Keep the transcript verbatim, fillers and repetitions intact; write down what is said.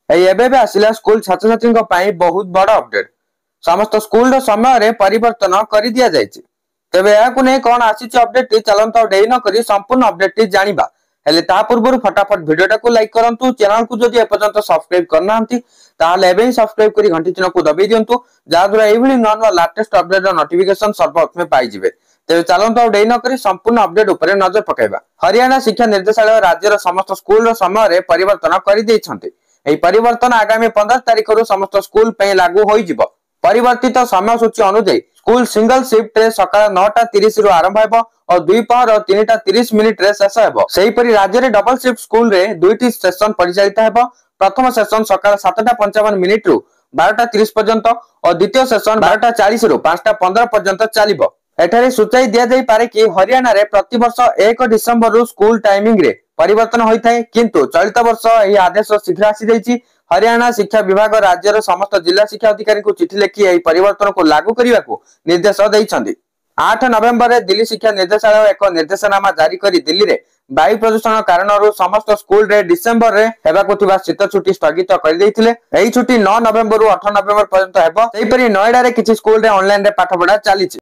ଏଇ ଏବେ ଏବେ ଆସିଲା ସ୍କୁଲ ଛାତ୍ରଛାତ୍ରୀଙ୍କ ପାଇଁ ବହୁତ ବଡ ଅପଡେଟ। ସମସ୍ତ ସ୍କୁଲର ସମୟରେ ପରିବର୍ତ୍ତନ କରି ଦିଆଯାଇଛି। ତେବେ ଏହାକୁ ନେଇ କଣ ଆସିଛି ଅପଡେଟଟି, ଚାଲନ୍ତୁ ଆଉ ଡେରି ନ କରି ସମ୍ପୂର୍ଣ୍ଣ ଅପଡେଟଟି ଜାଣିବା। ହେଲେ ତା ପୂର୍ବରୁ ଫଟାଫଟ ଭିଡିଓଟାକୁ ଲାଇକ୍ କରନ୍ତୁ। ଚ୍ୟାନେଲକୁ ଯଦି ଏପର୍ଯ୍ୟନ୍ତ ସବସ୍କ୍ରାଇବ କରିନାହାନ୍ତି, ତାହେଲେ ଏବେ ହିଁ ସବସ୍କ୍ରାଇବ କରି ଘଣ୍ଟି ଚିହ୍ନକୁ ଦବେଇ ଦିଅନ୍ତୁ, ଯାହାଦ୍ୱାରା ଏଇଭଳି ନୂଆ ନୂଆ ଲାଟେଷ୍ଟ ଅପଡେଟର ନୋଟିଫିକେସନ ସର୍ବପ୍ରଥମେ ପାଇଯିବେ। ତେବେ ଚାଲନ୍ତୁ ଆଉ ଡେରି ନ କରି ସମ୍ପୂର୍ଣ୍ଣ ଅପଡେଟ ଉପରେ ନଜର ପକାଇବା। ହରିୟାଣା ଶିକ୍ଷା ନିର୍ଦ୍ଦେଶାଳୟ ରାଜ୍ୟର ସମସ୍ତ ସ୍କୁଲର ସମୟରେ ପରିବର୍ତ୍ତନ କରିଦେଇଛନ୍ତି। ଏହି ପରିବର୍ତ୍ତନ ଆଗାମୀ ପନ୍ଦର ତାରିଖରୁ ସମସ୍ତ ସ୍କୁଲ ପାଇଁ ଲାଗୁ ହୋଇଯିବ। ପରିବର୍ତ୍ତିତ ସମୟସୂଚୀ ଅନୁଯାୟୀ ସ୍କୁଲ ସିଙ୍ଗଲ ସିଫ୍ଟରେ ସକାଳ ନଅଟା ତିରିଶରୁ ଆରମ୍ଭ ହେବ ଓ ଦ୍ୱିପହର ତିନିଟା ତିରିଶ ମିନିଟରେ ଶେଷ ହେବ। ସେହିପରି ରାଜ୍ୟରେ ଡବଲ ସିଫ୍ଟ ସ୍କୁଲରେ ଦୁଇଟି ସେସନ ପରିଚାଳିତ ହେବ। ପ୍ରଥମ ସେସନ ସକାଳ ସାତଟା ପଞ୍ଚାବନ ମିନିଟରୁ ବାରଟା ତିରିଶ ପର୍ଯ୍ୟନ୍ତ ଓ ଦ୍ୱିତୀୟ ସେସନ ବାରଟା ଚାଳିଶରୁ ପାଞ୍ଚଟା ପନ୍ଦର ପର୍ଯ୍ୟନ୍ତ ଚାଲିବ। ଏଠାରେ ସୂଚାଇ ଦିଆଯାଇପାରେ କି ହରିୟାଣାରେ ପ୍ରତିବର୍ଷ ଏକ ଡିସେମ୍ବରରୁ ସ୍କୁଲ ଟାଇମିଂରେ ପରିବର୍ତ୍ତନ ହୋଇଥାଏ, କିନ୍ତୁ ଚଳିତ ବର୍ଷ ଏହି ଆଦେଶ ଶୀଘ୍ର ଆସିଯାଇଛି। ହରିୟାଣା ଶିକ୍ଷା ବିଭାଗ ରାଜ୍ୟର ସମସ୍ତ ଜିଲ୍ଲା ଶିକ୍ଷା ଅଧିକାରୀଙ୍କୁ ଚିଠି ଲେଖି ଏହି ପରିବର୍ତ୍ତନକୁ ଲାଗୁ କରିବାକୁ ନିର୍ଦ୍ଦେଶ ଦେଇଛନ୍ତି। ଆଠ ନଭେମ୍ବରରେ ଦିଲ୍ଲୀ ଶିକ୍ଷା ନିର୍ଦ୍ଦେଶାଳୟ ଏକ ନିର୍ଦ୍ଦେଶନାମା ଜାରି କରି ଦିଲ୍ଲୀରେ ବାୟୁ ପ୍ରଦୂଷଣ କାରଣରୁ ସମସ୍ତ ସ୍କୁଲରେ ଡିସେମ୍ବରରେ ହେବାକୁ ଥିବା ଶୀତ ଛୁଟି ସ୍ଥଗିତ କରିଦେଇଥିଲେ। ଏହି ଛୁଟି ନଅ ନଭେମ୍ବରରୁ ଅଠର ନଭେମ୍ବର ପର୍ଯ୍ୟନ୍ତ ହେବ। ସେହିପରି ନଏଡାରେ କିଛି ସ୍କୁଲରେ ଅନଲାଇନରେ ପାଠପଢା ଚାଲିଛି।